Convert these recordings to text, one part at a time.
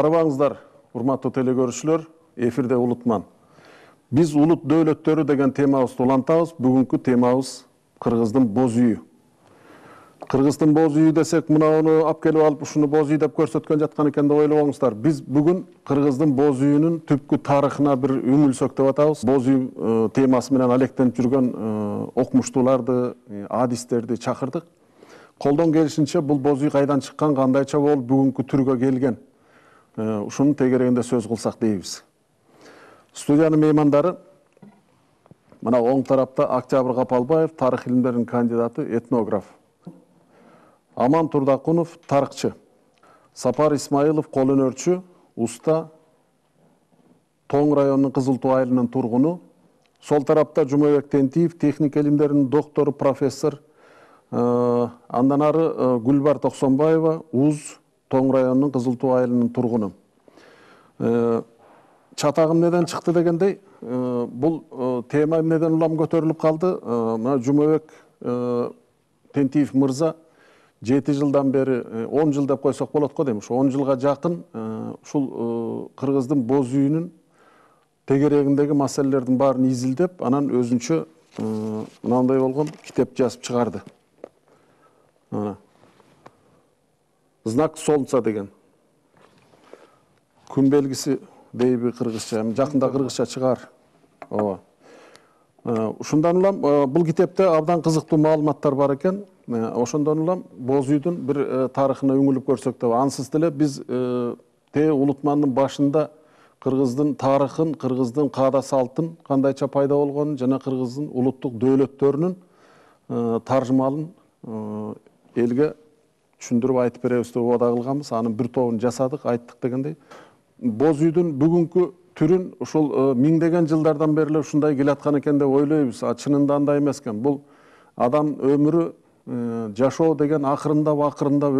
Арыбаңыздар, урматтуу телекөрүүчүлөр, эфирде Улутман. Биз улут дөөлөттөрү деген темабызды улантабыз. Бүгүнкү темабыз Кыргыздын боз үйү. Кыргыздын боз үйү десек, мынауну алып келип алып, ушуну боз үй деп көрсөткөн жаткан экен деп ойлобоңуздар. Биз бүгүн Кыргыздын боз үйүнүн түпкү тарыхына бир үңүлсөк деп атабыз. Боз үй темасы менен алектенип жүргөн окумуштууларды, адистерди чакырдык. Колдон келишинче бул боз үй кайдан чыккан, кандайча болуп бүгүнкү түргө келген, ушунун тегерегинде сөз кылсак дейбиз. Студиянын меймандары мына оң тарапта Октябрь Капалбаев, тарых илимдеринин кандидаты, этнограф. Аман Турдакунов, тарыхчы. Сапар Исмаилов, кол өнөрчү, уста, Тоң районунун Кызыл Туу айылынын тургуну. Сол тарапта Жумабек Тентиев, техника илимдеринин доктору, профессор. Андан ары Гүлбар Токсонбаева, УЗ, Тоң районунун Кызыл Туу айылынын тургуну. Чатагым неден чыкты дегендей, бул тема эмнеден улам көтөрүлүп калды? Мына Жумабек Тентиев мырза 7 жылдан бери, 10 жыл деп койсок болот го дейм. Ушу 10 жылга жакын ушул Кыргыздын боз үйүнүн тегерегиндеги маселелердин баарын изилдеп, анан өзүнчө мынандай болгон китеп жазып чыгарды. Знак солнца деген. Күн белгиси дейби кыргызча, жакында кыргызча чыгар. Ооба. Ушундан улам бул китепте абдан кызыктуу маалыматтар бар экен. Ошондон улам боз үйдүн бир тарыхына үңүлүп көрсөк деп, ансыз деле биз Улутмандын башында Кыргыздын тарыхын, Кыргыздын каада салтын кандайча пайда болгонун жана Кыргыздын улуттук дөөлөттөрүнүн таржымалын элге түшүндүрүп айтып беребиз деп убада кылганбыз. Анын бир тобун жасадык, айттык дегендей. Боз үйдүн бүгүнкү түрүн ушул миңдеген жылдардан бери эле ушундай келаткан экен деп ойлойбуз. Чынында андай эмес экен. Бул адам өмүрү жашоо деген акырындап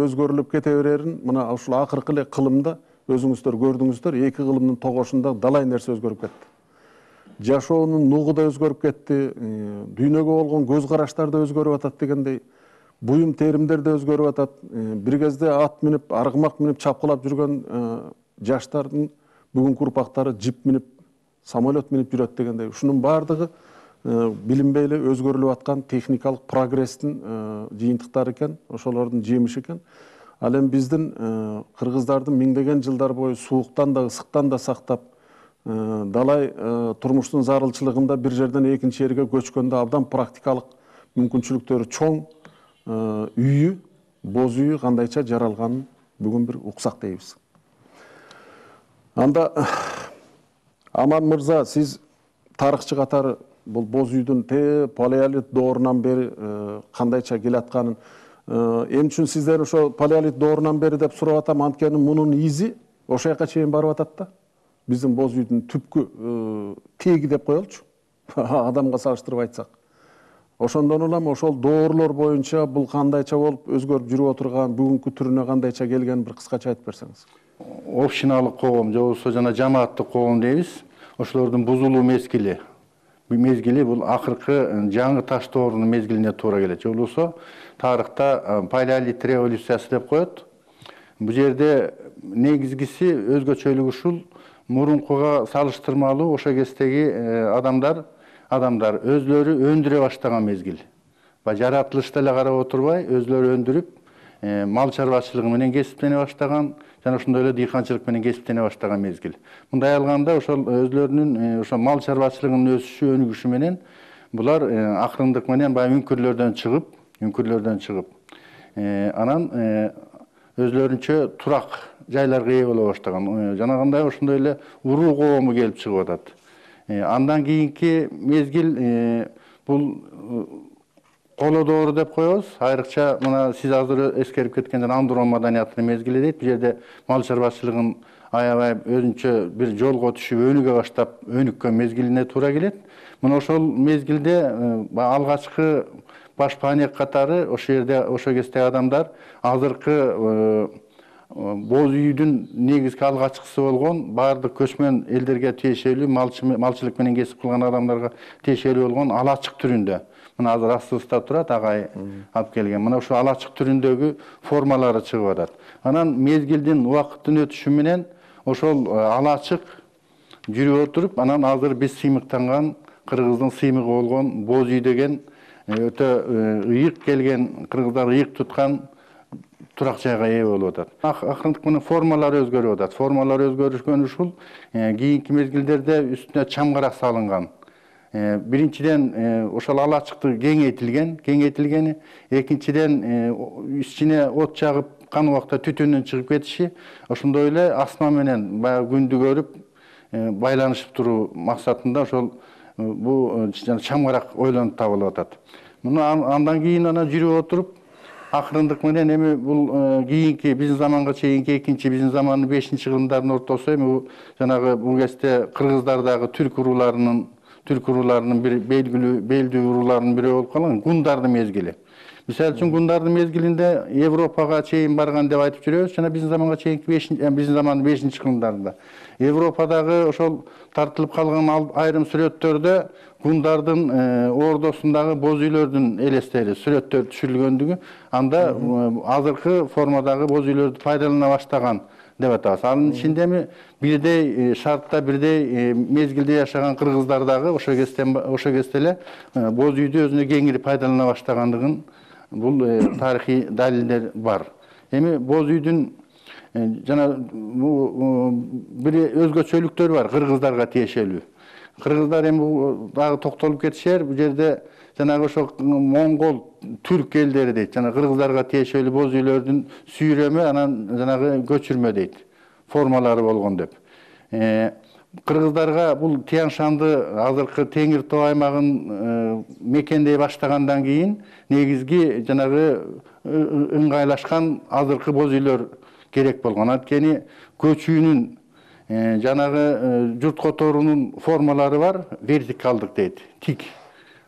өзгөрүлүп кете берерин мына ушул акыркы эле кылымда өзүңүздөр көрдүңүздөр. Эки кылымдын тогошунда далай нерсе өзгөрүп кетти. Жашоонун нугу да өзгөрүп кетти, дүйнөгө болгон көз караштар да өзгөрүп атат дегендей, буюм теримдер да өзгөрүп атат. Бир кезде ат минип, аргымак минип чапкылап жүргөн жаштардын бүгүнкү урпактары жип минип, самолет минип жүрөт дегендей. Ушунун баардыгы билинбей эле өзгөрүлүп аткан техникалык прогресстин жыйынтыктары экен, ошолордун жемиши экен. Ал эми биздин кыргыздардын миңдеген жылдар бою сууктан да, ысыктан да сактап, далай турмуштун зарылчылыгында бир жерден экинчи жерге көчкөндө абдан практикалык мүмкүнчүлүктөрү чоң үйү, боз үйү кандайча жаралганын бүгүн бир уксак дейбиз. Анда Аман мырза, сиз тарыхчы катары бул боз үйдүн палеолит доорунан бери кандайча келатканын, эмне үчүн сиздер ошо палеолит доорунан бери деп сурап атам, анткени мунун изи ошол жака чейин барып атат да. Биздин боз үйдүн түпкү теги деп коелучу, адамга салыштырып айтсак. Ошондон улам ошол доорлор боюнча бул кандайча болуп өзгөрүп жүрүп отурган, бүгүнкү түрүнө кандайча келгенин бир кыскача айтып берсеңиз. Общиналык коом же болбосо жана жамааттык коом дейбиз. Ошолордун бузулуу мезгили бул акыркы жаңы таш доорунун мезгилине туура келет. Же болбосо тарыхта палеолит революциясы деп коет. Бул жерде негизгиси өзгөчөлүгү ушул: мурункуга салыштырмалуу ошол кездеги адамдар өзлөрү өндүрө баштаган мезгил. Жаратылышты эле карап отурбай, өзлөрү өндүрүп, мал чарбачылыгы менен кесиптене баштаган, жана ошондой эле дыйканчылык менен кесиптене баштаган мезгил. Мындай алганда ошол өзлөрүнүн ошо мал чарбачылыгынын өсүшү, өнүгүшү менен булар акырындык менен баягы үңкүрлөрдөн чыгып, анан өзлөрүнчө турак жайларга ээ боло баштаган. Жанагындай ошондой эле уруу коому келип чыгып атат. Андан кийинки мезгил бул коло доору деп коебуз. Айрыкча мына сиз азыр эскерип кеткен Андырон маданиятынын мезгили дейт. Бул жерде мал чарбачылыгын аябай өзүнчө бир жолго түшүп, өнүгө баштап, өнүккөн мезгилине туура келет. Мына ошол мезгилде алгачкы баш паанек катары ошол жерде ошол кездеги адамдар азыркы боз үйдүн негизги алгачкысы болгон, баардык көчмөн элдерге тиешелүү, малчылык менен кесип кылган адамдарга тиешелүү болгон алачык түрүндө. Мына азыр астыбызда турат, агай алып келген. Мына ушул алачык түрүндөгү формалары чыгып атат. Анан мезгилдин убакыттын өтүшү менен ошол ала ачык жүрүп отуруп, анан азыр биз сыймыктанган кыргыздын сыймыгы болгон боз үй деген өтө ыйык келген, кыргыздар ыйык туткан турак жайга ээ болуп атат. Акырындык менен формалары өзгөрүп атат. Формалары өзгөрүшкөн ушул кийинки мезгилдерде үстүнө чамгарак салынган. Биринчиден ошол ала ачыкты кеңейтилгени, экинчиден ичине от жагып кан убакта түтүнүн чыгып кетиши, ошондой эле асма менен баягы күндү көрүп байланышып туруу максатында ошол бул чамгарак ойлонуп табылып атат. Андан кийин жүрүп отуруп, акырындык менен эми бул кийинки биздин заманга чейинки экинчи биздин замандын 5-кылымдардын ортосу эми бул жанагы бул кезде кыргыздардагы түрк урууларынын бир белдүү урууларынын бири болуп калган гундардын мезгили. Мисалы үчүн гундардын мезгилинде Европага чейин барган деп айтып жүрөбүз, жана биздин заманга чейинки биздин замандын 5-кылымдарында. Европадагы ошол тартылып калган айрым сүрөттөрдө гундардын ордосундагы боз үйлөрдүн элестери, сүрөттөр түшүрүлгөндүгү, анда азыркы формадагы боз үйлөрдү пайдалана баштаган деп атабыз. Анын ичинде эми бирдей шартта, бирдей мезгилде жашаган кыргыздар дагы ошо кезде эле боз үйдү өзүнө кеңири пайдалана баштагандыгын бул тарыхый далилдер бар. Эми боз үйдүн жана бир өзгөчөлүктөрү бар кыргыздарга тиешелүү. Кыргыздар эми дагы токтолуп кетишер, бул жерде жанагы ошо моңгол, түрк элдери дейт, жана кыргыздарга тиешелүү боз үйлөрдүн сүйрөмү, анан жанагы көчүрмө дейт, формалары болгон деп. Кыргыздарга бул Тянь-Шанды азыркы Теңир Тоо аймагын мекендей баштагандан кийин негизги жанагы ыңгайлашкан азыркы боз үйлөр керек болгон. Анткени көчүүнүн жанагы журт которуунун формалары бар, вертикалдык дейт, тик.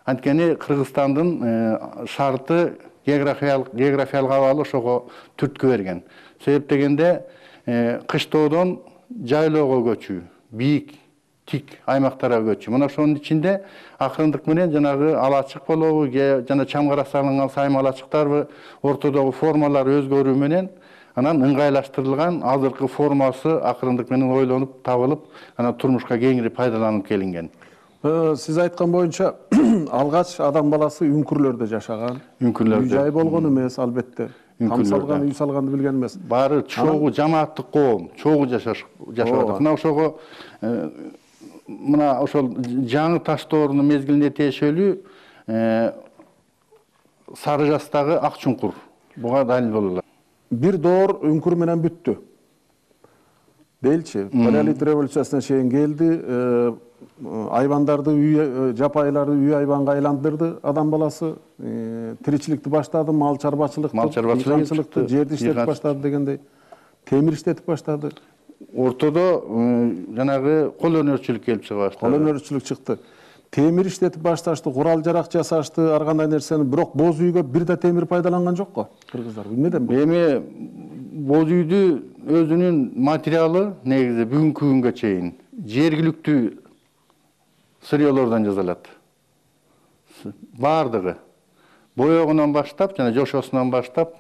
Анткени Кыргызстандын шарты географиялык абалы ошого түрткү берген. Себеп дегенде кыштоодон жайлоого көчүү, бийик, тик аймактарга көчүү. Мына ошонун ичинде акырындык менен жанагы ала ачык болобу, жана чамгарак салынган сайма ала ачыктарбы, ортодогу формалары өзгөрүү менен анан ыңгайлаштырылган азыркы формасы акырындык менен ойлонуп табылып, анан турмушка кеңири пайдаланып келинген. Сиз айткан боюнча алгач адам баласы үңкүрлөрдө жашаган. Үй жай болгон эмес, албетте. Там салган, үй салганды билген эмес. Баары чогуу жамааттык коом, чогуу жашап атат. Мына ошого мына ошол жаңы таш доорунун мезгилине тиешелүү Сары Жастагы Ак чуңкур буга далил боло алат. Бир доор үңкүр менен бүттү. Делчи, палеолит революциясына чейин келди, айбандарды жапайларды үй айбанга айландырды адам баласы, тиричиликти баштады, мал чарбачылыкты, жерди иштетип баштады дегендей, темир иштетип баштады. Ортодо жанагы кол өнөрчүлүк келип чыга баштады. Кол өнөрчүлүк чыкты. Темир иштетип башташты, курал жарак жасашты, ар кандай нерсени, бирок боз үйгө бир да темир пайдаланган жок го кыргыздар. Билмедимби? Эми боз үйдү өзүнүн материалы негизи бүгүнкү күнгө чейин жергиликтүү сырьёлордон жасалат. Бардыгы боёгунан баштап жана жошосунан баштап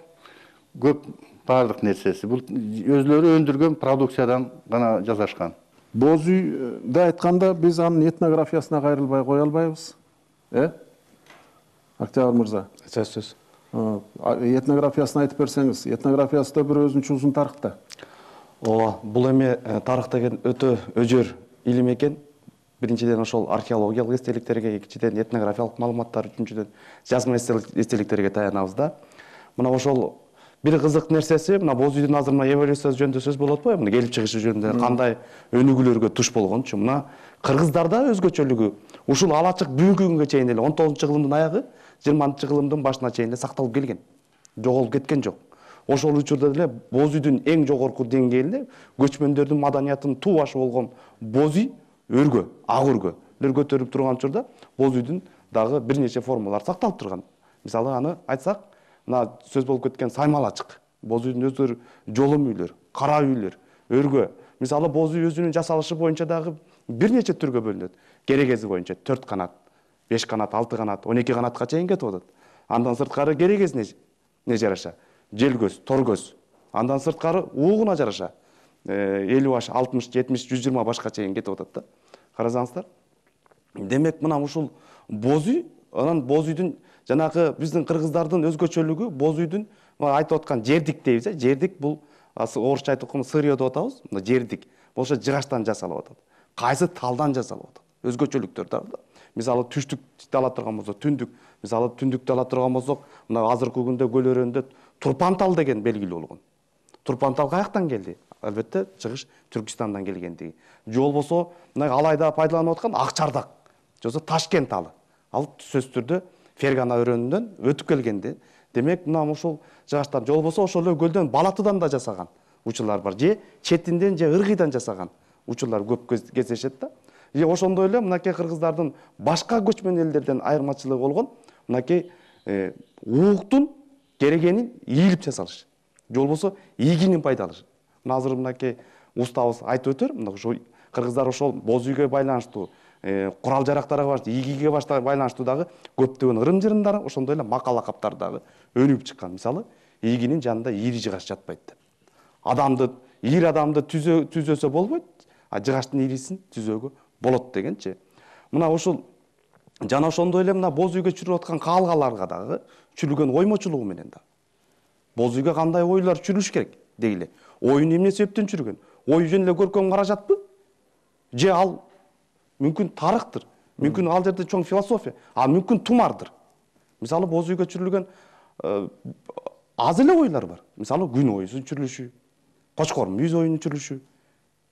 көп бардык нерсеси бул өзлөрү өндүргөн продукциядан гана жасашкан. Боз үйдү айтканда биз анын этнографиясына кайрылбай кое албайбыз. Октябрь мырза. Сөз. Этнографиясын айтып берсеңиз, этнографиясы да бир өзүнчө узун тарыхта. Ооба, бул эми тарых деген өтө өжөр илим экен. Биринчиден ошол археологиялык эстеликтерге, экинчиден этнографиялык маалыматтар, үчүнчүдөн жазма эстеликтерге таянабыз да. Мына ошол бир кызык нерсеси, мына боз үйдүн азыр мына эволюциясы жөнүндө сөз болот го, мына келип чыгышы жөнүндө кандай өнүгүүлөргө туш болгончу. Мына кыргыздарда өзгөчөлүгү ушул ала ачык бүгүнкү күнгө чейин эле 19-кылымдын аягы 20-кылымдын башына чейин эле сакталып келген. Жоголуп кеткен жок. Ошол учурда деле боз үйдүн эң жогорку деңгээлде көчмөндөрдүн маданиятынын туу башы болгон боз үй өргө, ак өргөлөр көтөрүп турган учурда боз үйдүн дагы бир нече формалары сакталып турган. Мисалы аны айтсак, мына сөз болуп кеткен сайма ала ачык, боз үйдүн өздөрү жолом үйлөр, кара үйлөр, өргө. Мисалы боз үй өзүнүн жасалышы боюнча дагы бир нече түргө бөлүнөт. Керегези боюнча 4 канат, 5 канат, 6 канат, 12 канатка чейин кетип атат. Андан сырткары керегесине жараша желгөз, торгөз. Андан сырткары уугуна жараша 50 баш, 60, 70, 120 башка чейин кетип атат да. Карасаңыздар. Демек мына ушул боз үй, анан боз үйдүн жанагы биздин кыргыздардын өзгөчөлүгү боз үйдүн айтып аткан жердик дейбиз, жердик бул орусча айтып атканда сырье деп атабыз. Мына жердик болсо жыгачтан жасалып атат. Кайсы талдан жасалып атат. Өзгөчөлүктөр да. Мисалы түштүктү ала турган болсок, түндүк, мисалы түндүктү ала турган болсок, мына азыркы күндө көл өрөөнүндө турпан тал деген белгилүү болгон. Турпан тал каяктан келди? Албетте, чыгыш Түркистандан келгендиги. Же болбосо, мына алайда пайдаланып аткан Акчардак, же болбосо Ташкент талы. Ал сөзсүз түрдө Фергана өрөөнүнөн өтүп келгенди. Демек, мына ушул жыгачтан, же болбосо ошол эле көлдөн Балатыдан да жасаган учурлар бар. Же четинден, же ыргыйдан жасаган учурлар көп кездешет да. Же ошондой эле мынакей кыргыздардын башка көчмөн элдерден айырмачылыгы болгон мынакей ууктун керегенин ийилип жасалыш. Же болбосо ийгинин пайдаланыш. Мына азыр мынакей устабыз айтып өтөр, мына ошо кыргыздар ошол боз үйгө байланыштуу, курал жарактарга байланыштуу, ийгиге байланыштуу дагы көптөгөн ырым-жырымдар, ошондой эле макал лакаптар дагы өнүгүп чыккан. Мисалы, ийгинин жанында ийри жыгач жатпайт деп. Ийри адамды түзөсө болбойт, а жыгачтын ийрисин түзөөгө болот дегенчи. Мына ушул жана ошондой эле мына боз үйгө чүрүп аткан каалгаларга дагы чүрүлгөн оймочулугу менен да. Боз үйгө кандай ойлор чүрүлүш керек дейли. Оюн эмне себептен чүргөн? Ой жөн эле көркөм каражатпы? Же ал мүмкүн тарыхтыр. Мүмкүн ал жерде чоң философия, а мүмкүн тумардыр. Мисалы боз үйгө чүрүлгөн аз эле ойлор бар. Мисалы күн оюсун чүрүлүшү, кочкор мүйүз оюнун чүрүлүшү.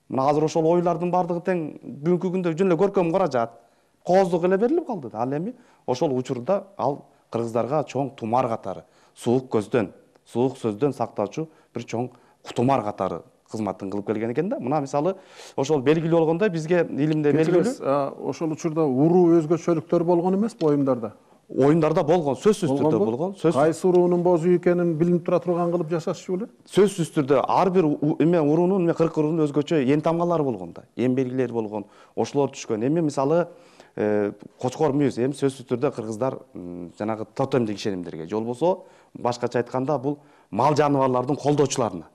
Мына азыр ошол ойлордун бардыгы тең бүгүнкү күндө жөн эле көркөм каражат, кооздук эле берилип калды. Ал эми ошол учурда ал кыргыздарга чоң тумар катары, суук көздөн, суук сөздөн сактоочу бир чоң тумар катары кызматын кылып келген экен да. Мына мисалы ошол белгилүү болгондой бизге илимде белгилүү. Ошол учурда уруу өзгөчөлүктөр болгон эмеспи оюндарда? Оюндарда болгон, сөзсүз түрдө болгон. Кайсы уруунун боз үй экенин билинип тура турган кылып жасашчу беле? Сөзсүз түрдө ар бир уруунун, 40 уруунун өзгөчө эн тамгалары болгон да, эн белгилери болгон. Ошолор түшкөн. Эми мисалы кочкор мүйүз, эми сөзсүз түрдө кыргыздар жанагы тотемдик ишенимдерге, же болбосо башкача айтканда бул мал жаныбарлардын колдоочуларына,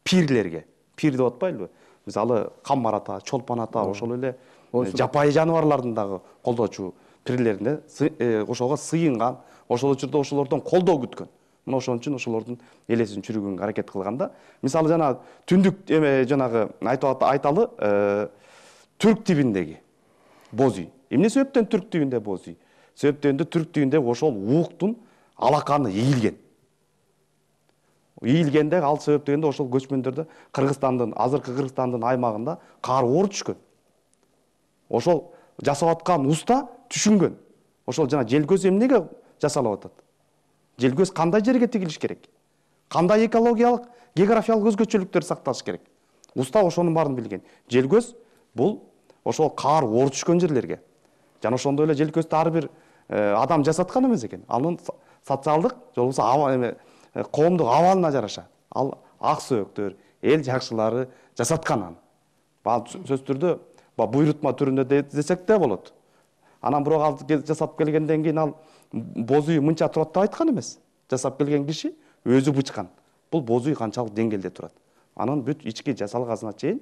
пирлерге, пир деп атпайлыбы? Мисалы Каммар ата, Чолпон ата, ошол эле жапайы жаныбарлардын дагы колдоочу пирлерине ошого сыйынган, ошол учурда ошолордон колдоо күткөн. Мына ошон үчүн ошолордун элесин чүрүгөнгө аракет кылган да. Мисалы жана түндүк жанагы айталы түрк тибиндеги боз үй. Эмне себептен түрк тибинде боз үй? Себептен түрк тибинде ошол ууктун алаканы ийилген. Ийилгенде ал себептен ошол көчмөндөрдө Кыргызстандын, азыркы Кыргызстандын аймагында кар оор түшкөн. Ошол жасап аткан уста түшүнгөн. Ошол жана желкөз эмнеге жасалып атат? Желкөз кандай жерге тигилиш керек? Кандай экологиялык, географиялык өзгөчөлүктөр сакталыш керек? Уста ошонун баарын билген. Желкөз бул ошол кар оор түшкөн жерлерге. Жана ошондой эле желкөздү ар бир адам жасаткан эмес экен. Анын социалдык, же болбосо коомдук абалына жараша ал ак сөөктөр, эл жакшылары жасаткан аны. Сөзсүз түрдө буйрутма түрүндө десек да болот. Анан бирок ал жасап келгенден кийин ал боз үй мынча турат деп айткан эмес. Жасап келген киши өзү бычкан. Бул боз үй канчалык деңгээлде турат. Анын бүт ички жасалгасына чейин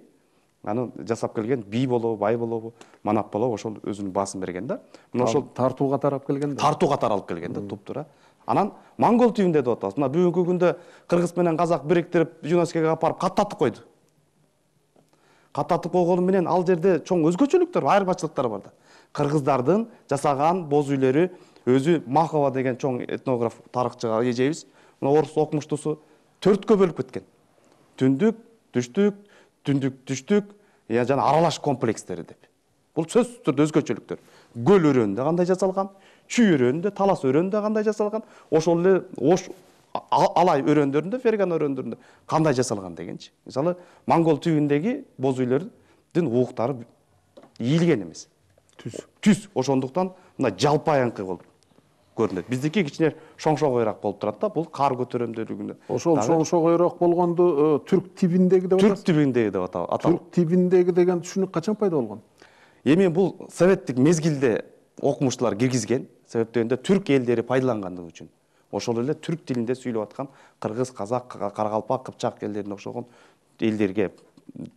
аны жасап келген бий болобу, бай болобу, манап болобу ошол өзүнүн баасын берген да. Мына ошол тартуу катары алып келген да. Тартуу катары алып келген да, туп-туура. Анан монгол тибинде деп атабыз. Мына бүгүнкү күндө кыргыз менен казак бириктирип ЮНЕСКОго апарып каттатып койду. Каттатып койгону менен ал жерде чоң өзгөчөлүктөр, айырмачылыктар бар да. Кыргыздардын жасаган боз үйлөрү өзү Махова деген чоң этнограф, тарыхчыга эжебиз, мына орус окумуштуусу 4кө бөлүп кеткен. Түндүк, түштүк, түндүк, түштүк, жана аралаш комплекстери деп. Бул сөзсүз түрдө өзгөчөлүктөр. Көл өрөөнүндө кандай жасалган, Чүй өрөөнүндө, Талас өрөөнүндө кандай жасалган, ошол эле Ош Алай өрөөндөрүндө, Фергана өрөөндөрүндө кандай жасалган дегенчи. Мисалы, монгол тибиндеги боз үйлөрдүн ууктары ийилген эмес. Түз. Ошондуктан мына жалпайыңкы болуп көрүнөт. Биздики кичине шоңшогойраак болуп турат да, бул кар көтөрөмдүүлүгүнө. Ошол шоңшогойраак болгонду түрк тибиндеги деп атабыз. Түрк тибиндеги деп аталат. Түрк тибиндеги деген түшүнүк качан пайда болгон? Эми бул советтик мезгилде окумуштуулар киргизген, себептен түрк элдери пайдалангандыгы үчүн. Ошол эле түрк тилинде сүйлөп аткан кыргыз, казак, каракалпак, кыпчак элдерине окшогон элдерге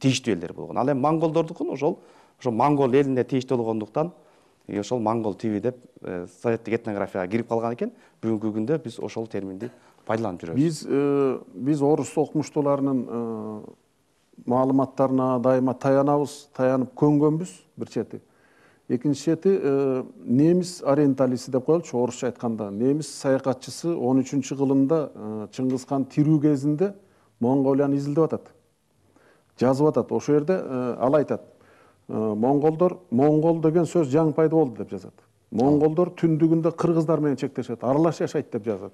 тийиштүү элдер болгон. Ал эми монголдордукун ошол монгол элине тийиштүү болгондуктан ошол монгол TV деп советтик этнографияга кирип калган экен. Бүгүнкү күндө биз ошол терминди пайдаланып жүрөбүз. Биз орус окумуштууларынын маалыматтарына дайыма таянып көнгөнбүз бир чети. Экинчи чети немис ориенталисти деп коелучу, орусча айтканда. Немис саякатчысы 13-кылымда Чыңгыз хан тирүү кезинде Монголияны изилдеп атат. Жазып атат. Ошол жерде ал айтат. Монгол деген сөз жаңы пайда болду деп жазат. Монголдор түндүгүндө кыргыздар менен чектешет, аралаш жашайт деп жазат.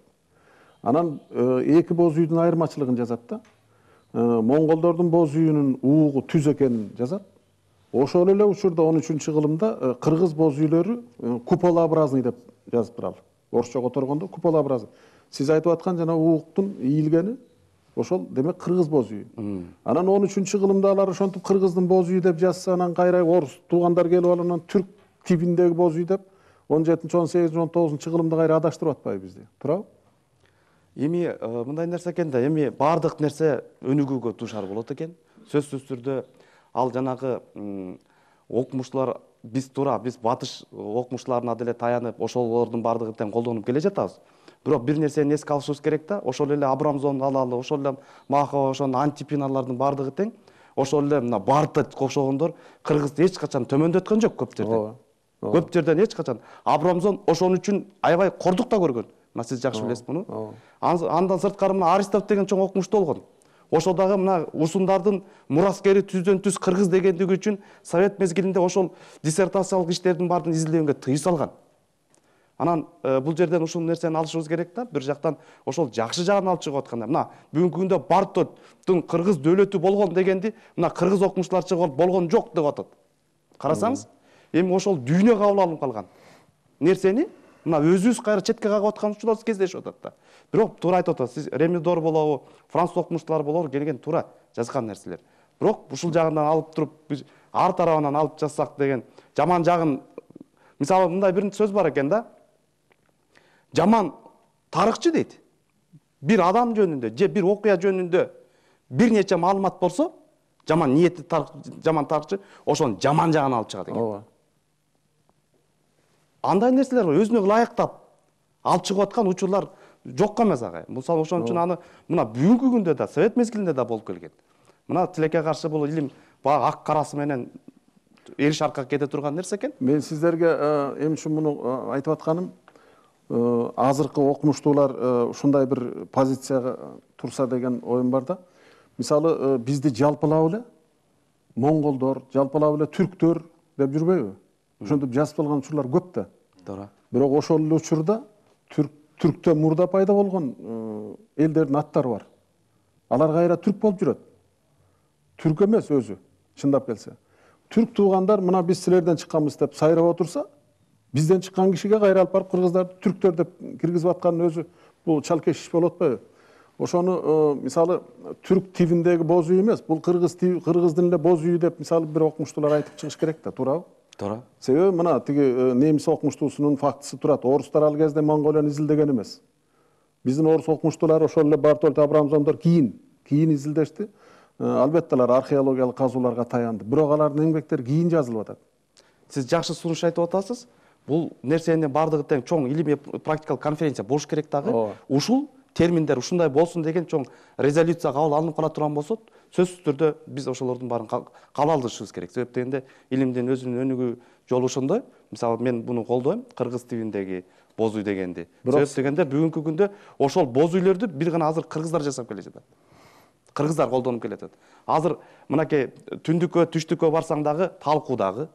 Анан эки боз үйдүн айырмачылыгын жазат да. Монголдордун боз үйүнүн уугу түз экенин жазат. Ошол эле учурда 13-кылымда кыргыз боз үйлөрү куполообразный деп жазып турат. Орусча которгондо куполообразный. Сиз айтып аткан жана ууктун ийилгени ошол демек кыргыз боз үйү. Анан 13-кылымда алар ошентип кыргыздын боз үйү деп жазса, анан кайра орус туугандар келип алып анан түрк типиндеги боз үй деп 17-18-19-кылымда кайра адаштырып атпайбы бизди. Туурабы? Эми мындай нерсе экен да, эми баардык нерсе өнүгүүгө дуушар болот экен. Сөзсүз түрдө ал жанагы окумуштуулар биз батыш окумуштууларына деле таянып, ошолордун баардыгын тең колдонуп келе жатабыз. Бирок бир нерсени эске алышыбыз керек да, ошол эле Абрамзон алалы, ошол эле Махова, ошонун Антипиналардын баардыгы тең, ошол эле мына Бартта окшогондор кыргызды эч качан төмөндөткөн жок көп жерден. Көп жерден эч качан. Абрамзон ошон үчүн аябай кордук да көргөн. Мына сиз жакшы билесиз муну. Андан сырткары мына Аристов деген чоң окумуштуу болгон. Ошол дагы мына усундардын мураскери түздөн түз кыргыз дегендиги үчүн совет мезгилинде ошол диссертациялык иштердин баарын изилдөөгө тыюу салган. Анан бул жерден ушул нерсени алышыбыз керек да. Бир жактан ошол жакшы жагын алып чыгып атканда, мына бүгүнкү күндө Бартоттун кыргыз дөөлөтү болгон дегенди мына кыргыз окумуштуулар чыгып болгон жок деп атат. Карасаңыз, эми ошол дүйнө кабыл алынып калган нерсени мына өзүбүз кайра четке кагып аткан учурлар кездешип атат да. Бирок туура айтып атасыз, сиз Ремидор болобу, француз окумуштуулар болобу келген туура жазган нерселер. Бирок ушул жагынан алып туруп биз ар тарабынан алып жазсак деген жаман жагын, мисалы мындай бир сөз бар экен да. Жаман тарыхчы дейт. Бир адам жөнүндө же бир окуя жөнүндө бир нече маалымат болсо, жаман ниетти жаман тарыхчы ошонун жаман жагын алып чыгат экен. Ооба. Андай нерселер өзүнө ылайыктап алып чыгып аткан учурлар жокко эмес ага. Мисалы ошон үчүн аны мына бүгүнкү күндө да совет мезгилинде да болуп келген. Мына тилекке каршы бул илим баягы ак карасы менен эриш аркага кете турган нерсе экен. Мен сиздерге эмне үчүн муну айтып атканым, азыркы окумуштуулар ушундай бир позицияга турса деген оюм бар да. Мисалы бизди жалпылап эле монголдор, жалпылап эле түрктөр деп жүрбөйбү? Ошентип жазып алган учурлар көп да. Туура. Бирок ошол эле учурда түрктөн мурда пайда болгон элдердин аттары бар. Алар кайра түрк болуп жүрөт. Түрк эмес өзү, чындап келсе. Түрк туугандар мына биз силерден чыкканбыз деп сайрап отурса, бизден чыккан кишиге кайра алып барып кыргыздарды түрктөр деп киргизип аткандын өзү бул чалкеш иш болуп атпайбы? Ошону мисалы түрк тибиндеги боз үй эмес, бул кыргыздын эле боз үйү деп мисалы бир окумуштуулар айтып чыгыш керек да, туурабы? Туура. Себеби мына тиги немис окумуштуусунун фактысы турат. Орустар ал кезде Монголияны изилдеген эмес. Биздин орус окумуштуулары ошол эле Бартольд Абрамзондор кийин изилдешти. Албетте алар археологиялык казууларга таянды. Бирок алардын эмгектери кийин жазылып атат. Сиз жакшы сунуш айтып атасыз. Бул нерсенин баардыгы тең чоң илимий практикалык конференция болуш керек дагы. Ушул терминдер ушундай болсун деген чоң резолюция кабыл алынып кала турган болсо, сөзсүз түрдө биз ошолордун баарын кабыл алышыбыз керек. Себеп дегенде илимдин өзүнүн өнүгүү жолу ошондой. Мисалы мен буну колдойм, кыргыз тибиндеги боз үй дегенди. Себеп дегенде бүгүнкү күндө ошол боз үйлөрдү бир гана азыр кыргыздар жасап келе жатат. Кыргыздар колдонуп келе жатат. Азыр мынакей түндүккө, түштүккө барсаң дагы, талкуу дагы,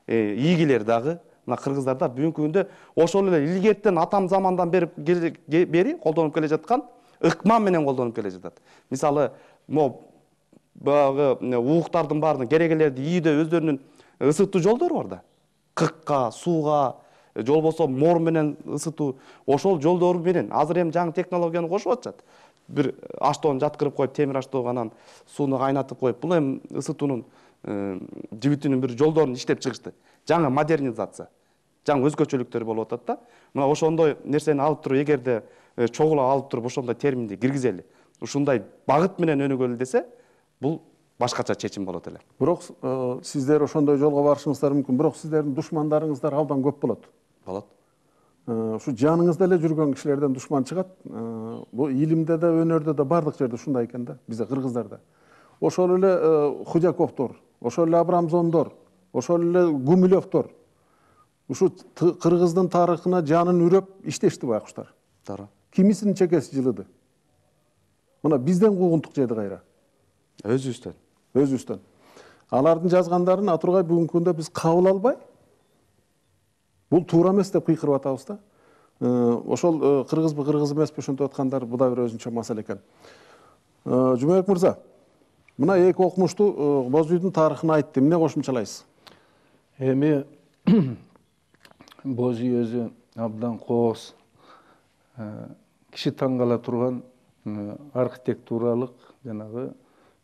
ийгилер дагы мына кыргыздарда бүгүнкү күндө ошол эле илгертен атам замандан бери колдонуп келе жаткан ыкман менен колдонуп келе жатат. Мисалы, могу баягы ууктардын баарынын керегелерди ийүүдө өздөрүнүн ысытуу жолдору бар да. Кыкка, сууга, же болбосо мор менен ысытуу, ошол жолдору менен азыр эми жаңы технологияны кошуп атышат. Бир аштоон жаткырып коюп, темир аштоого анан сууну кайнатып коюп, бул эми ысытуунун жибитинин бир жолдорун иштеп чыгышты. Жаңы модернизация, жаңы өзгөчөлүктөр болуп атат да. Мына ошондой нерсени алып туруп, эгерде чогулап алып туруп ошондой терминди киргизели, ушундай багыт менен өнүгөлү десе, бул башкача чечим болот эле. Бирок сиздер ошондой жолго барышыңыздар мүмкүн. Бирок сиздердин душмандарыңыздар абдан көп болот. Болот. Ушу жаныңызда эле жүргөн кишилерден душман чыгат. Бул илимде да, өнөрдө да бардык жерде ушундай экен да, бизде кыргыздарда. Ошол эле Худяковдор, ошол эле Абрамзондор, ошол эле Гумилевдор. Ушу кыргыздын тарыхына жанын үрөп иштешти байкуштар. Туура. Кимисинин чекеси жылыды. Мына бизден куугунтук жеди кайра. Өзүбүздөн. Алардын жазгандарын Атургай бүгүнкү күндө биз кабыл албай, бул туура эмес деп кыйкырып атабыз да. Ошол кыргызбы, кыргыз эмеспи ошентип аткандар бу да бир өзүнчө маселе экен. Жумабек мырза, мына эки окумуштуу Боз үйдүн тарыхын айтты. Эмне кошумчалайсыз? Эми Боз үй өзү абдан кооз, киши таң кала турган архитектуралык жанагы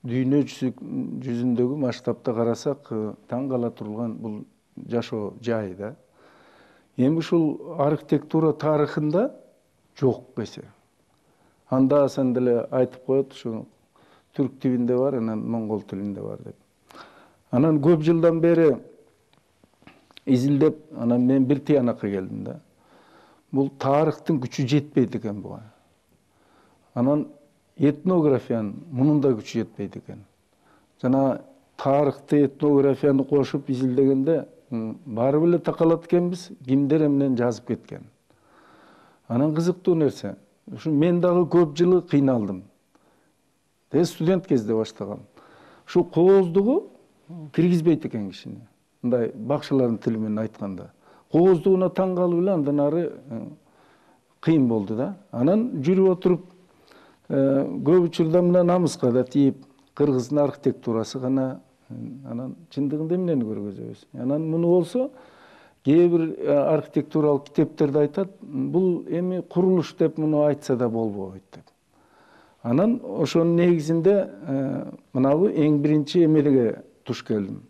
дүйнө жүзүндөгү масштабта карасак таң кала турган бул жашоо жай да. Эми ушул архитектура тарыхында жок эсе. Анда санда эле айтып коет, ушу түрк тилинде бар, анан моңгол тилинде бар деп. Анан көп жылдан бери изилдеп, анан мен бир тыянакка келдим да. Бул тарыхтын күчү жетпейт экен буга. Анан этнографиянын мунун да күчү жетпейт экен. Жана тарыхты, этнографияны кошуп изилдегенде баары эле такалат экенбиз, кимдер эмнен жазып кеткен. Анан кызыктуу нерсе, ушу мен дагы көп жылы кыйналдым. Студент кезде баштагам. Ушу кооздугу киргизбейт экен кишини. Мындай бакчылардын тили менен айтканда. Кооздугуна таң калып эле андан ары кыйын болду да. Анан жүрүп отуруп көп учурда мына намыска да тийип, кыргыздын архитектурасы гана, анан чындыгында эмнени көргөзөбүз. Анан муну болсо кээ бир архитектуралык китептерде айтат, бул эми курулуш деп муну айтса да болбойт деп. Анан ошонун негизинде мынабы эң биринчи эмелеге туш келдим.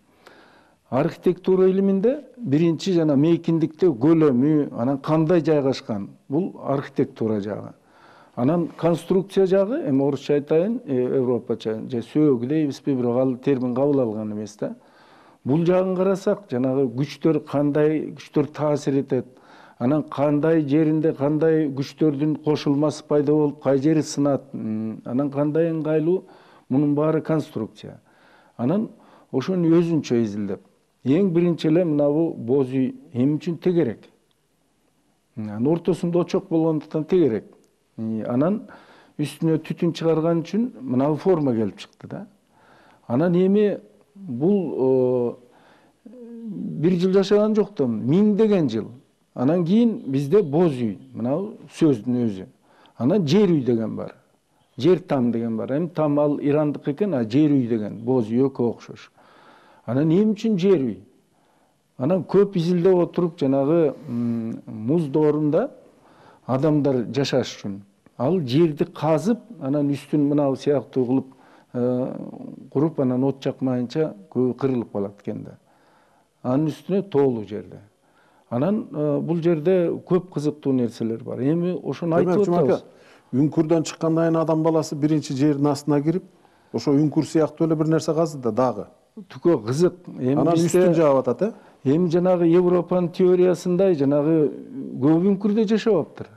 Архитектура илиминде биринчи жана мейкиндикте көлөмү, анан кандай жайгашкан, бул архитектура жагы. Анан конструкция жагы, эми орусча айтайын, европача, же сөөгү дейбизби, бирок ал термин кабыл алган эмес да. Бул жагын карасак, жанагы күчтөр кандай күчтөр таасир этет, анан кандай жеринде кандай күчтөрдүн кошулмасы пайда болуп, кай жери сынат, анан кандай ыңгайлуу, мунун баары конструкция. Анан ошону өзүнчө изилдеп, эң биринчи эле мынабу боз үй эмне үчүн тегерек? Анан ортосунда очок болгондуктан тегерек. Анан үстүнө түтүн чыгарган үчүн мынабу форма келип чыкты да. Анан эми бул бир жыл жашаган жок да, миңдеген жыл. Анан кийин бизде боз үй, мынабу сөздүн өзү. Анан жер үй деген бар. Жер там деген бар. Эми там ал ирандык экен, а жер үй деген боз үй экөө окшош. Анан эмне үчүн жер үй? Анан көп изилдеп отуруп жанагы муз доорунда адамдар жашаш үчүн ал жерди казып, анан үстүн мынау сыяктуу кылып куруп, анан от жакмайынча көбү кырылып калат экен да. Анын үстүнө тоолуу жерде. Анан бул жерде көп кызыктуу нерселер бар. Эми ошону айтып атабыз. Үңкүрдөн чыккандан кийин адам баласы биринчи жердин астына кирип, ошо үңкүр сыяктуу эле бир нерсе казды да дагы. Түкө кызык. Анан үстүн жаап атат, Эми жанагы Европанын теориясындай жанагы көп үңкүрдө жашабаптыр.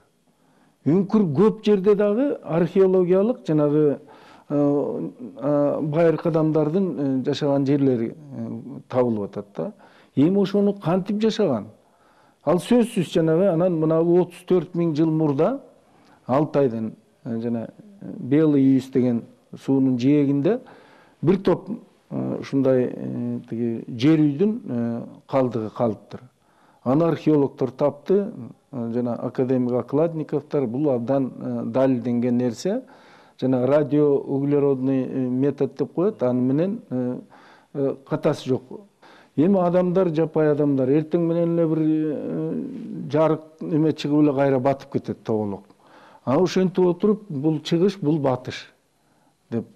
Үңкүр көп жерде дагы археологиялык жанагы байыркы адамдардын жашаган жерлери табылып атат да. Эми ошону кантип жашаган? Ал сөзсүз жанагы анан мынабу 34 000 жыл мурда Алтайдын жана Белый Юз деген суунун жээгинде бир топ ушундай жер үйдүн калдыгы калыптыр. Аны археологдор тапты, жана академик Окладниковдор, бул абдан далилденген нерсе. Жана радиоуглеродный метод деп коет, аны менен катасы жок. Эми адамдар, жапай адамдар эртең менен эле бир жарык эме чыгып эле кайра батып кетет тоголок. А ошентип отуруп бул чыгыш, бул батыш деп.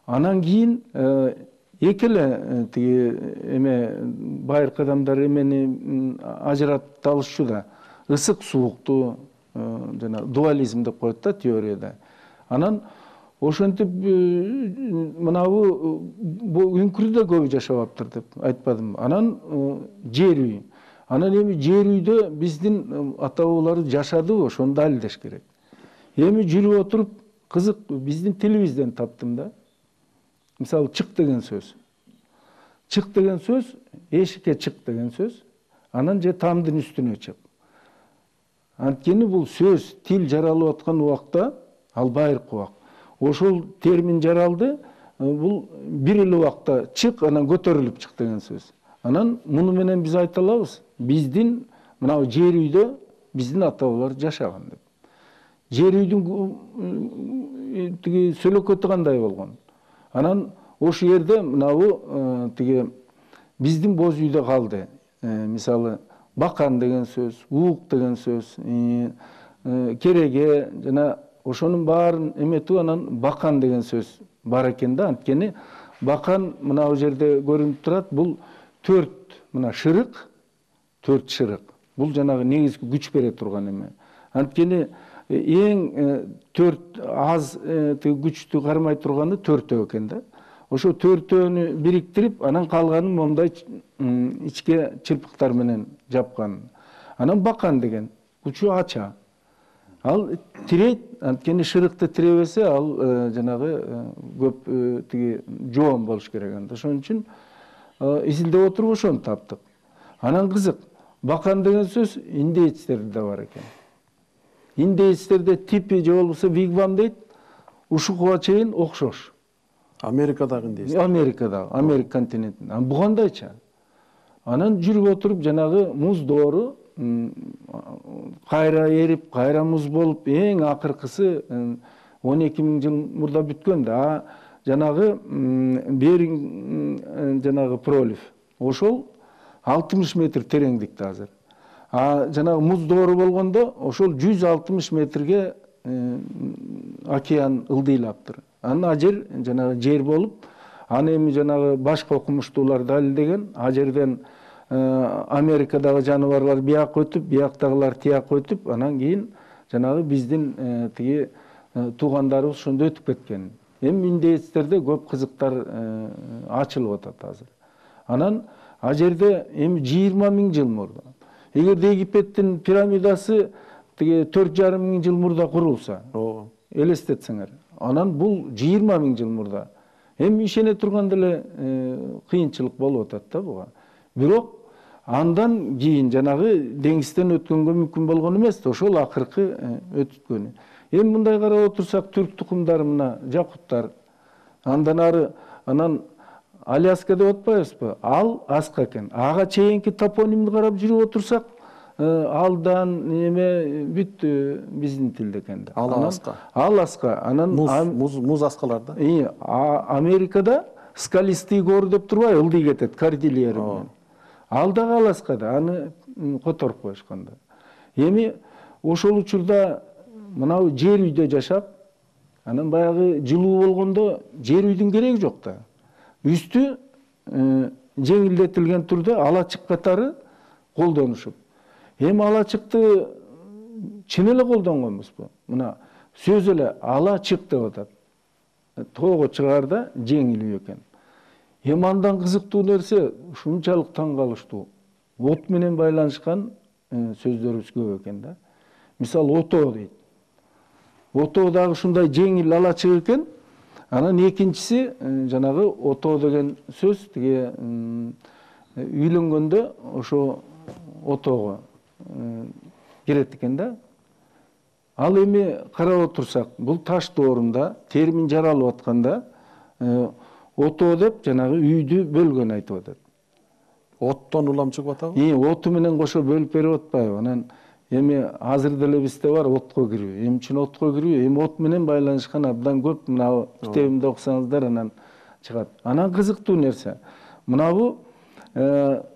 Анан кийин эки эле тиги эме байыркы адамдар эмени ажырата алышчу да. Ысык суукту жана дуализм деп коет да теорияда. Анан Ошентип мынабу үңкүрдө көбү жашабаптыр деп айтпадым. Анан жер үй. Анан эми жер үйдө биздин ата бабалар жашадыбы, ошону далилдеш керек. Эми жүрүп отуруп кызык биздин тилибизден таптым да. Мисалы чык деген сөз. Чык деген сөз, эшикке чык деген сөз. Анан же тамдын үстүнө чык. Анткени бул сөз, тил жаралып аткан убакта ал байыркы убак. Ошол термин жаралды, бул бир эле убакта чык, анан көтөрүлүп чык деген сөз. Анан муну менен биз айта алабыз, биздин мына жер үйдө биздин ата бабалар жашаган деп. Жер үйдүн тиги сөлөкөтү кандай болгон? Анан ошол жерде мынабу тиги биздин боз үйдө калды. Мисалы бакан деген сөз, уук деген сөз, кереге жана ошонун баарын эметип анан бакан деген сөз бар экен да. Анткени бакан мына жерде көрүнүп турат. Бул 4 мына шырык, 4 шырык. Бул жанагы негизги күч бере турган эме. Анткени эң 4 аз күчтү кармай турганы 4 экен да. Ошо 4-өнү бириктирип, анан калганын мондай ичке чырпыктар менен жапкан. Анан бакан деген күчү ача. Ал тирейт, анткени шырыкты тиребесе, ал жанагы көп тиги жоон болуш керек анда. Ошон үчүн изилдеп отуруп ошону таптык. Анан кызык, бакан деген сөз индейцтерде да бар экен. Индейцтерде типи же болбосо вигвам дейт, ушуга чейин окшош. Америкадагы индейцтер. Америкадагы, Америка континентинде. Бу кандайча? Анан жүрүп отуруп жанагы муз доору кайра эрип, кайра муз болуп, эң акыркысы 12.000 жыл мурда бүткөн да. Жанагы Беринг жанагы пролив. Ошол 60 метр тереңдикте азыр. Жанагы муз доору болгондо ошол 160 метрге океан ылдыйлаптыр. Анан ажер жанагы жер болуп, аны эми жанагы башка окумуштуулар далилдеген, ажерден Америкадагы жаныбарлар бияк өтүп, бияктагылар тияк өтүп, анан кийин жанагы биздин тиги туугандарыбыз ошондо өтүп кеткен. Эми индейцтерде көп кызыктар ачылып атат азыр. Анан ажерде эми 20.000 жыл мурда. Эгерде Египеттин пирамидасы тиги 4,5 жыл мурда курулса, элестетсеңер, анан бул 20.000 жыл мурда. Эми ишене турганда эле кыйынчылык болуп атат да буга. Бирок андан кийин жанагы деңизден өткөнгө мүмкүн болгон эмес, ошол акыркы өткөнү. Эми мындай карап отурсак, түрк тукумдары мына жакуттар, андан ары анан Аляска деп атпайбызбы? Ал аска экен. Ага чейинки топонимди карап жүрүп отурсак, алдан эме бүт биздин тилде экен да. Ал аска. Ал аска. Анан муз аскалар да. Америкада скалистый гор деп турбайбы, ылдый кетет кордильера менен. Ал дагы ал аска да, аны которуп коюшкан да. Эми ошол учурда мынау жер үйдө жашап, анан баягы жылуу болгондо жер үйдүн кереги жок да. Үстү жеңилдетилген түрдө алачык катары колдонушуп. Эми алачыкты чын эле колдонгонбузбу? Мына сөз эле алачык деп атат. Тоого чыгаарда жеңилүү экен. Эми андан кызыктуу нерсе ушунчалык таң калыштуу. От менен байланышкан сөздөрүбүз көп экен да. Мисалы ото дейт. Ото дагы ушундай жеңил алачык экен. Анан экинчиси жанагы ото деген сөз тиги үйлөнгөндө ошо отого келет экен да. Ал эми карап отурсак, бул таш доорунда термин жаралып атканда ото деп жанагы үйдү бөлгөн айтып атат. Оттон улам чыгып атабы? Оту менен кошо бөлүп берип атпайбы? Анан эми азыр деле бизде бар отко кирүү. Эмне үчүн отко кирүү? Эми от менен байланышкан абдан көп, мына китебимде окусаңыздар анан чыгат. Анан кызыктуу нерсе, мынабу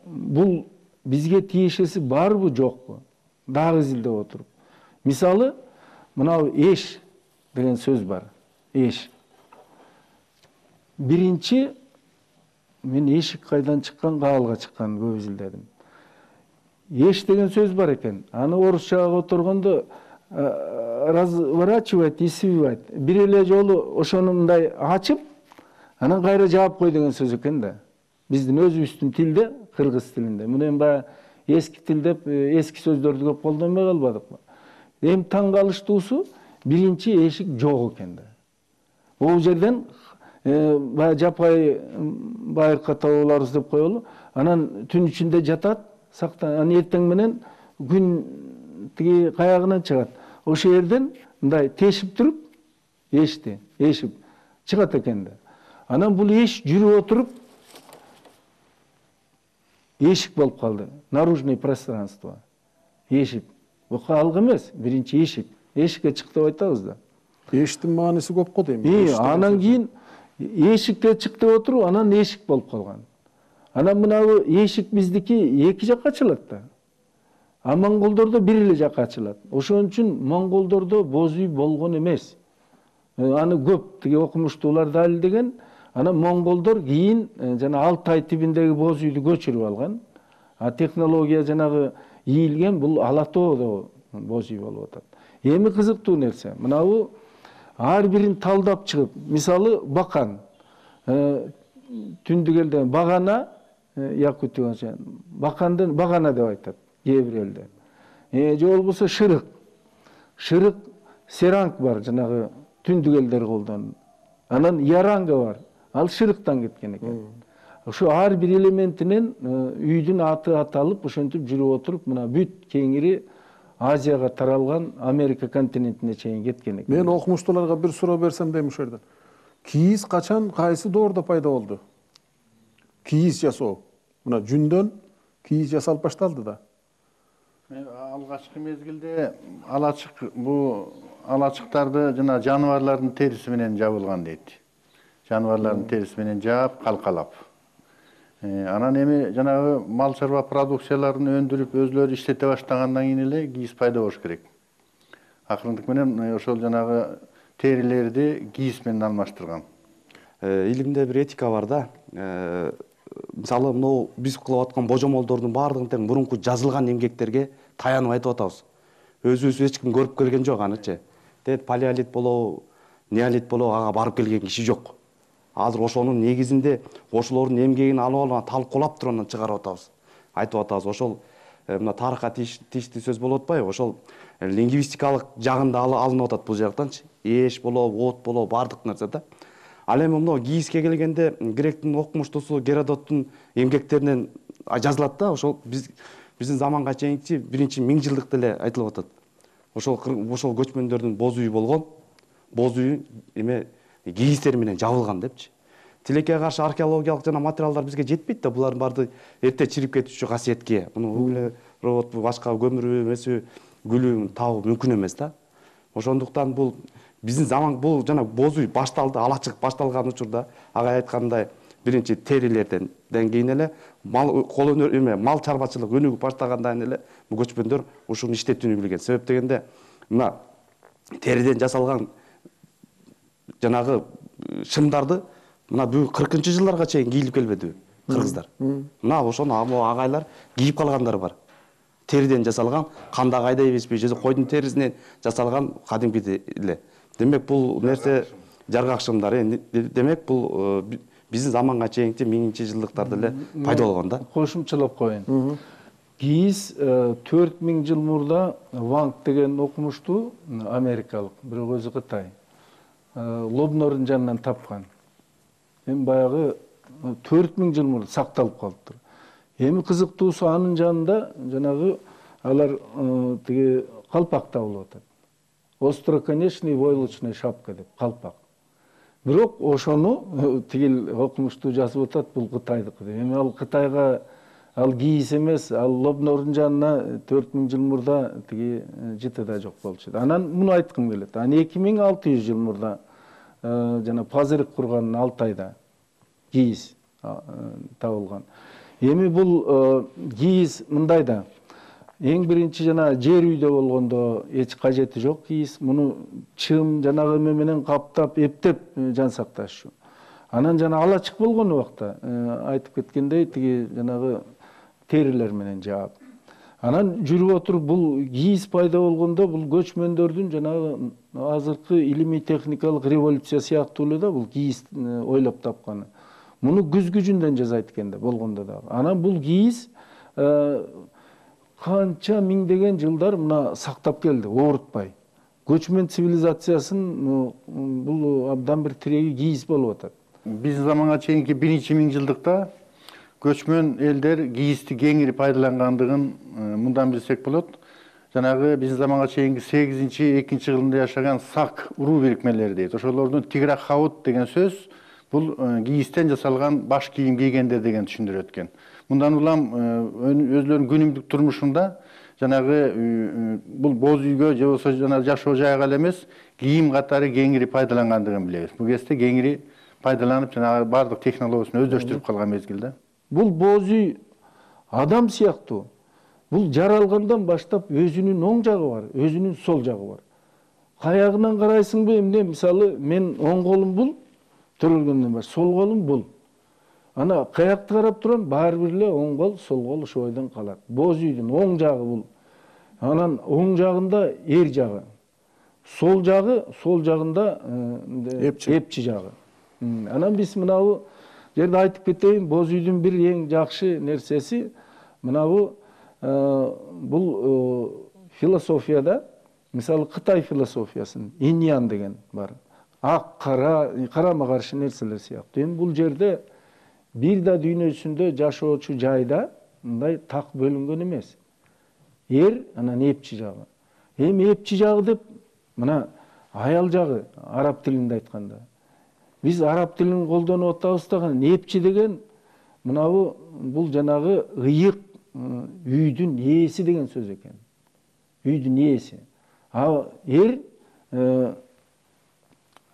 бул бизге тиешеси барбы жокпу? Дагы изилдеп отуруп. Мисалы, мынау эш деген сөз бар. Эш. Биринчи мен эшик кайдан чыккан, каалга чыккан көп изилдедим. Эш деген сөз бар экен. Аны орусчага которгондо разворачивать и свивать. Бир эле жолу ошону мындай ачып, анан кайра жаап кой деген сөз экен да. Биздин өзүбүздүн тилде, кыргыз тилинде. Мына эми баягы эски тил деп эски сөздөрдү көп колдонбой калбадыкпы? Эми таң калыштуусу биринчи эшик жок экен да. Бул жерден баягы жапай байыркы табууларыбыз деп коелу. Анан түн ичинде жатат, анан эртең менен күн тиги каягынан чыгат. Ошол жерден мындай тешип туруп, эшип чыгат экен да. Анан бул эш жүрүп отуруп эшик болуп калды. Наружное пространство. Эшик. Бул калгы эмес, биринчи эшик. Эшикке чык деп айтабыз да. Эшиктин мааниси көп го дейм. Анан кийин эшикке чык деп отуруп, анан эшик болуп калган. Анан мынабу эшик биздики эки жакка ачылат да. А монголдордо бир эле жакка ачылат. Ошон үчүн монголдордо боз үй болгон эмес. Аны көп тиги окумуштуулар далилдеген. Анан монголдор кийин жана Алтай тибиндеги боз үйдү көчүрүп алган. А технология жанагы ийилген бул Ала тоодо боз үй болуп атат. Эми кызыктуу нерсе, мынабу ар бирин талдап чыгып, мисалы бакан, түндүк элден багана, якутча бакандын багана деп айтат кээ бир элдер. Же болбосо шырык. Шырык серанг бар, жанагы түндүк элдер колдонот. Анан яранга бар. Ал шырыктан кеткен экен. Ошо ар бир элементинен үйдүн аты аталып, ошентип жүрүп отуруп, мына бүт кеңири Азияга таралган, Америка континентине чейин кеткен экен. Мен окумуштууларга бир суроо берсем дейм ошол жерден. Кийиз качан, кайсы доордо пайда болду? Кийиз жасоо. Мына жүндөн кийиз жасалып башталды да. Алгачкы мезгилде алачыктарды жана жаныбарлардын териси менен жабылган дейт. Жаныбарлардын териси менен жаап, калкалап. Анан эми жанагы мал чарба продукцияларын өндүрүп, өзлөрү иштете баштагандан кийин эле кийиз пайда болуш керек. Акырындык менен ошол жанагы терилерди кийиз менен алмаштырган. Илимде бир этика бар да. Мисалы, мынау биз кылып аткан божомолдордун баардыгын тең мурунку жазылган эмгектерге таянып айтып атабыз. Өзүбүз эч ким көрүп келген жок анычы. Дет палеолит болобу, неолит болобу ага барып келген киши жок. Азыр ошонун негизинде ошолордун эмгегин алып алып талкуулап туруп анан чыгарып атабыз. Айтып атабыз. Ошол мына тарыхка тийиштүү сөз болуп атпайбы? Ошол лингвистикалык жагында алынып атат бул жактанчы. Эш болобу, от болобу, баардык нерсе да. Ал эми мына кийизге келгенде гректин окумуштуусу Геродоттун эмгектеринен жазылат да. Ошол биздин заманга чейинки биринчи 1000 жылдыкта эле айтылып атат. Ошол көчмөндөрдүн боз үйү болгон. Боз үйү эме кийиздер менен жабылган депчи. Тилекке каршы археологиялык жана материалдар бизге жетпейт да, булардын баардыгы эрте чирип кетүүчү касиетке. Муну углерод башка көмүрү эмеси күлү табуу мүмкүн эмес да. Ошондуктан бул биздин заман бул жана боз үй башталды, алачык башталган учурда ага айткандай биринчи терилерден кийин эле кол өнөр мал чарбачылык өнүгүп баштагандан эле бул көчмөндөр ушуну иштетүүнү билген. Себеп дегенде мына териден жасалган жанагы шымдарды мына бүгүн 40-жылдарга чейин кийилип келбедиби кыргыздар? Мына ошону агайлар кийип калгандар бар. Териден жасалган, канда кайдай беспей, же койдун терисинен жасалган кадимки эле. Демек бул нерсе жаргак шымдар. Демек бул биздин заманга чейинки 1000-жылдыктарда эле пайда болгон да. Кошумчалап коеюн. Кийиз 4000 жыл мурда Ванг деген окумуштуу америкалык, бирок өзү Кытай. Лобнордун жанынан тапкан. Эми баягы 4000 жыл мурда сакталып калыптыр. Эми кызыктуусу анын жанында жанагы алар тиги калпак табылып атат. Остроконечный войлочный шапка деп калпак. Бирок ошону тигил окумуштуу жазып атат, бул Кытайдыкы деп. Эми ал Кытайга ал кийиз эмес, ал Лобнордун жанына 4000 жыл мурда тиги жыты да жок болчу. Анан муну айткым келет. Анан 2600 жыл мурда жана пазырык курган Алтайда кийиз табылган. Эми бул кийиз мындай да. Эң биринчи жана жер үйдө болгондо эч кажети жок кийиз. Муну чым жанагы эме менен каптап, эптеп жан сакташчу. Анан жана алачык болгон убакта айтып кеткендей тиги жанагы терилер менен жаап. Анан жүрүп отуруп бул кийиз пайда болгондо бул көчмөндөрдүн жанагы азыркы илимий техникалык революция сыяктуу эле да бул кийиз ойлоп тапканы. Муну күз күчүндөн жасайт экен да болгондо дагы. Анан бул кийиз канча миңдеген жылдар мына сактап келди, оорутпай. Көчмөн цивилизациясын бул абдан бир тиреги кийиз болуп атат. Биздин заманга чейинки 1-миң жылдыкта көчмөн элдер кийизди кеңири пайдалангандыгын мындан билсек болот. Жанагы биздин заманга чейинки 8-2 кылымда жашаган сак уруу бирикмелери дейт. Ошолордун тиграхаут деген сөз бул кийизден жасалган баш кийим кийгендер деген түшүндүрөт экен. Мындан улам өзлөрүнүн күнүмдүк турмушунда жанагы бул боз үйгө же болбосо жана жашоо жайга эле эмес, кийим катары кеңири пайдалангандыгын билебиз. Бул кезде кеңири пайдаланып жанагы бардык технологиясын өздөштүрүп калган мезгилде. Бул боз үй адам сыяктуу. Бул жаралгандан баштап өзүнүн оң жагы бар, өзүнүн сол жагы бар. Каягынан карайсыңбы, эмне мисалы мен оң колум бул, төрөлгөндөн баш, сол колум бул. Ана каякты карап турам, баары бир эле оң кол, сол кол ошо бойдон калат. Боз үйдүн оң жагы бул. Анан оң жагында эр жагы. Сол жагында эпчи жагы. Анан биз мынабу жерде айтып кетейин, боз үйдүн бир эң жакшы нерсеси мынабу бул философияда, мисалы Кытай философиясын, иньян деген бар. Ак, кара, карама каршы нерселер сыяктуу. Эми бул жерде бир да дүйнөсүндө жашоочу жайда мындай так бөлүнгөн эмес. Эр, анан эпчи жагы. Эми эпчи жагы деп мына аял жагы араб тилинде айтканда. Биз араб тилин колдонуп атабыз дагы, эпчи деген мынабу бул жанагы ыйык үйдүн ээси деген сөз экен. Үйдүн ээси. А эр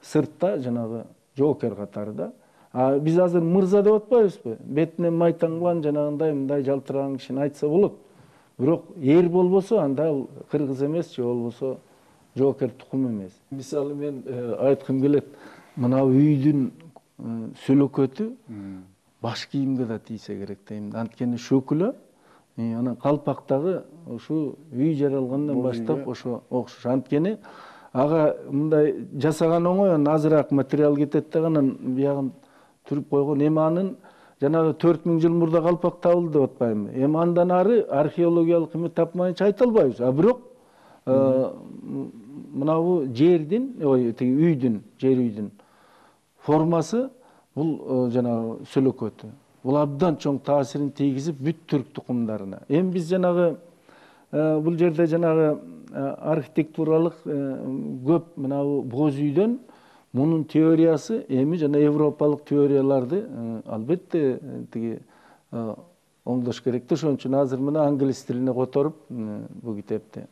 сыртта жанагы жоокер катары да. А биз азыр мырза деп атпайбызбы? Бетинен майтаңган жанагындай мындай жалтыраган кишини айтса болот. Бирок эр болбосо анда ал кыргыз эмес, же болбосо жоокер тукум эмес. Мисалы мен айткым келет, мына үйдүн сөлөкөтү баш кийимге да тийсе керек дейм. Анткени шөкүлө анан калпактагы ушу үй жаралгандан баштап ошо окшош. Анткени ага мындай жасаган оңой, анан азыраак материал кетет да анан биягын түрүп койгон. Эми анын жанагы 4000 жыл мурда калпак табылды деп атпаймынбы? Эми андан ары археологиялык эме тапмайынча айта албайбыз. А бирок мынабу жердин, тиги үйдүн, жер үйдүн формасы бул жанагы сөлөкөтү. Бул абдан чоң таасирин тийгизип бүт түрк тукумдарына. Эми биз жанагы бул жерде жанагы архитектуралык көп мынабу боз үйдөн мунун теориясы эми жана европалык теорияларды албетте тиги оңдош керек да. Ошон үчүн азыр мына англис тилине которуп бул китепти.